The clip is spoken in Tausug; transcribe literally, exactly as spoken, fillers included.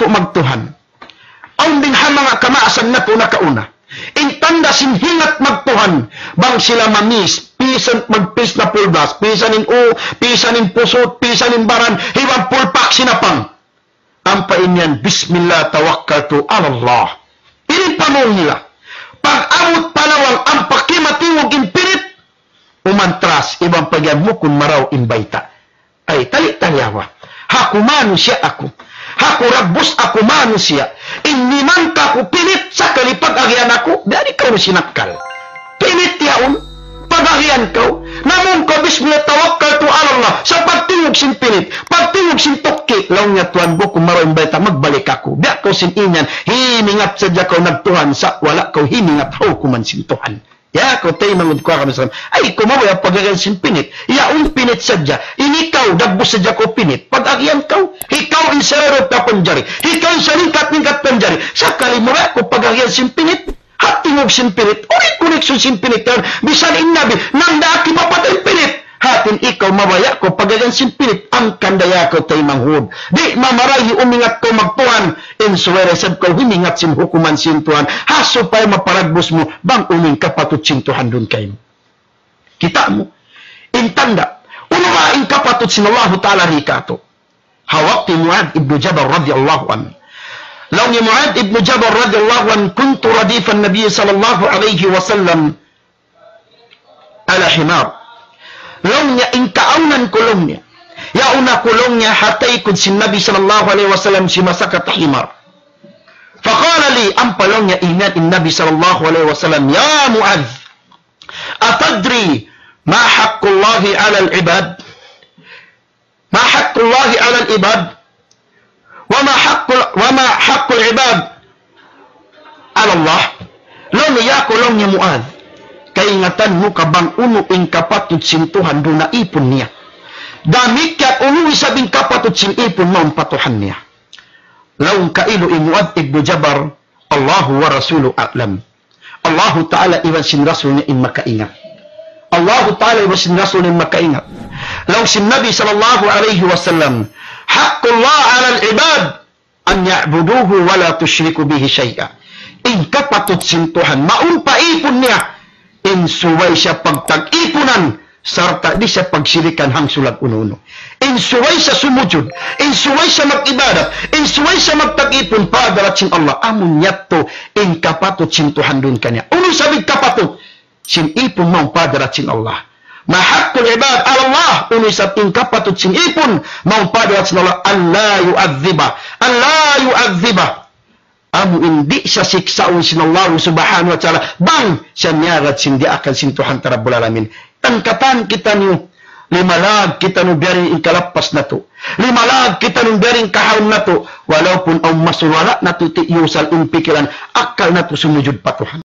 magtuhan. Awn din ha manga kamaasan natu' nakauna. In tanda' sin hingat magtuhan, bang sila mamis, pisan magpis na pulgas, pisan in u, pisan in pusut, pisan in baran, iban pulpak sinapang. Ampa in yan, "Bismillah tawakkaltu ala Allah." Ini pamung nila. Pag-abut pa lawang ampa kimatingug in pinit, umantras, iban pagyan mukun marayaw in bayta'. Ay, tali-tali awa. Aku manusiya' aku. Aku rabbus aku manusiya'. In mimang kaku' pinit sakali pag-agihan aku, biya' di' kaw sinakkal. Pinit yaun, pag-agihan kaw. Namung kaw bismillah tawakkaltu ala Allah. Sa' pagtingug sin pinit, pagtingug sin tukki', laung niya, "Tuwan, bukun marayaw in bayta', magbalik aku." Biya' kaw sin inyan, himingat sadja kaw nagtuhan sa' wala' kaw himingat ha hukuman sin Tuhan. Ya, kaw taymanghud ku agama Islam. Ay, kaw mabaya' pag-agihan sin pinit. Yaun pinit sadja. Ini kaw, dagbus sadja kaw pinit. Pag-agihan kaw, ikaw in sararut na panjari. Ikaw in salingkat-lingkat panjari. Sakali mabaya' kaw pag-agihan sin pinit. Ha tingug sin pinit. Unu in connection sin pinit yan? Bisan in Nabi, nang daak hipapatay in pinit. Hati niya ikaw mabaya' kaw pag-agihan sin pinit. Hangkan da ya kaw taymanghud. Di' mamarayaw umingat kaw magtuhan. In subay da isab kaw humingat sin hukuman sin Tuhan. Ha supaya maparagbus mu bang unu in kapatut sin Tuhan duun kaymu. Kita' mu. In tanda'. Unu ba in kapatut sin Allahu Ta'ala di katu'? Ha waktu Muadh ibn Jabal radiyallahu anhu. Laung hi Muadh ibn Jabal radiyallahu anhu, "Kuntu radifan Nabi sallallahu alayhi wasallam ala himar." Laung niya, in kaawnan ku laung niya, yaun aku laung niya ha taykud sin Nabi sallallahu alayhi wasallam simasakat ha himar. Faqala li, ampa laung niya ingat in Nabi sallallahu alayhi wasallam, "Ya Muadh, atadri ma haqqullahi ala al-ibad?" Ma haqqullahi ala al-ibad? Wa ma haqqul, wa ma haqqul ibad ala Allah? Laung niya, ya kaw laung niya Muadh, kaingatan mu ka bang unu in kapatut sin Tuhan duun ha ipun niya? Damikkiyan unu isab in kapatut sin ipun mawn pa Tuhan niya? Laung kailu hi Muadh ibn Jabal, Allahu wa rasuluhu a'lam. Allahu Ta'ala iban sin Rasul niya in makaingat. Allahu Ta'ala iban sin Rasul niya in makaingat. Laung sin Nabi sallallahu alayhi wasallam, "Haqqullah ala al-ibad an ya'buduhu wa la tushriku bihi shay'a." In kapatut sin Tuhan, mawn pa ipun niya, in subay siya pagtag-ipunan, sarta' di' siya pagsirikan hangsulag unu-unu. In subay siya sumujud, in subay siya mag-ibadat, in subay siya magtag-ipun pa hadarat sin Allah, amu yadtu in kapatut sin Tuhan duun kaniya. Unu isab in kapatut sin ipun mawn pa hadarat sin Allah? Ma haqqul ibad ala Allah, unu isab in kapatut sin ipun mawn pa hadarat sin Allah, an la yu'adhdhiba, an la yu'adhdhiba. Amu in di' siya siksaun sin Allah subhanahu wa ta'ala, bang siya miyagad sin diyaakan sin Tuhan ta Rabbul Alamin. Tan katan kitaniyu, limalag kitaniyu biya' diin in kalappas natu'. Limalag kitaniyu biya' diin in kahaun natu'. Walaupun awn masul, wala' natu' tiyusal in pikilan, akkal natu' sumujud pa Tuhan.